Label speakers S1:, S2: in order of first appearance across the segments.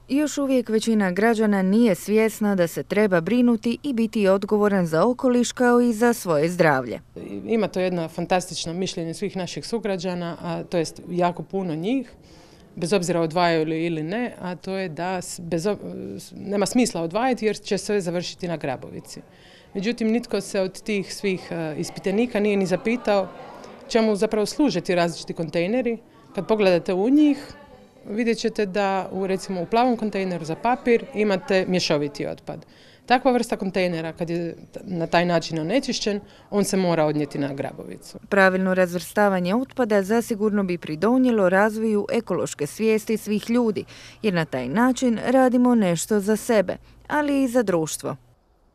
S1: Još uvijek većina građana nije svjesna da se treba brinuti i biti odgovoran za okoliš kao i za svoje zdravlje.
S2: Ima to jedno fantastično mišljenje svih naših sugrađana, a to jest jako puno njih, bez obzira odvajaju li ili ne, a to je da nema smisla odvajati jer će sve završiti na Grabovici. Međutim, nitko se od tih svih ispitanika nije ni zapitao čemu zapravo služe ti različiti kontejneri. Kad pogledate u njih, vidjet ćete da recimo u plavom kontejneru za papir imate mješoviti otpad. Takva vrsta kontejnera, kad je na taj način onečišćen, on se mora odnijeti na Grabovicu.
S1: Pravilno razvrstavanje otpada zasigurno bi pridonijelo razvoju ekološke svijesti svih ljudi, jer na taj način radimo nešto za sebe, ali i za društvo.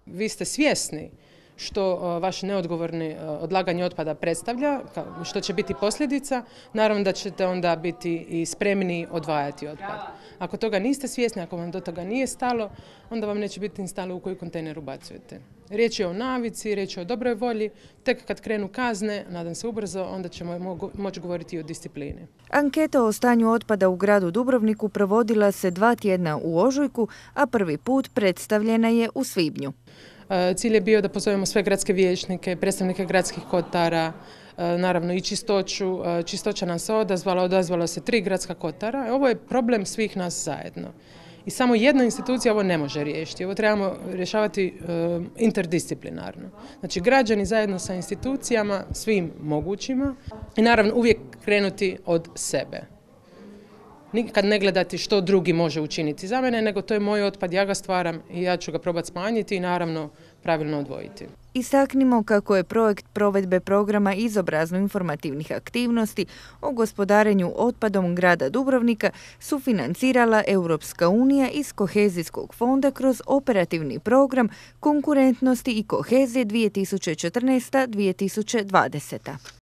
S2: Vi ste svjesni što vaše neodgovorno odlaganje otpada predstavlja, što će biti posljedica, naravno da ćete onda biti i spremni odvajati otpad. Ako toga niste svjesni, ako vam do toga nije stalo, onda vam neće biti ni stalo u koji kontejner ubacujete. Riječ je o navici, riječ je o dobroj volji, tek kad krenu kazne, nadam se ubrzo, onda ćemo moći govoriti i o disciplini.
S1: Anketa o stanju otpada u gradu Dubrovniku provodila se 2 tjedna u ožujku, a prvi put predstavljena je u svibnju.
S2: Cilj je bio da pozovemo sve gradske vijećnike, predstavnike gradskih kotara, naravno i čistoću. Čistoća nam se odazvalo se 3 gradska kotara. Ovo je problem svih nas zajedno. I samo jedna institucija ovo ne može riješiti. Ovo trebamo rješavati interdisciplinarno. Znači građani zajedno sa institucijama, svim mogućima i naravno uvijek krenuti od sebe. Nikad ne gledati što drugi može učiniti za mene, nego to je moj otpad, ja ga stvaram i ja ću ga probati smanjiti i naravno pravilno odvojiti.
S1: Istaknimo kako je projekt provedbe programa izobrazno-informativnih aktivnosti o gospodarenju otpadom grada Dubrovnika sufinancirala Europska unija iz Kohezijskog fonda kroz operativni program Konkurentnosti i kohezije 2014-2020.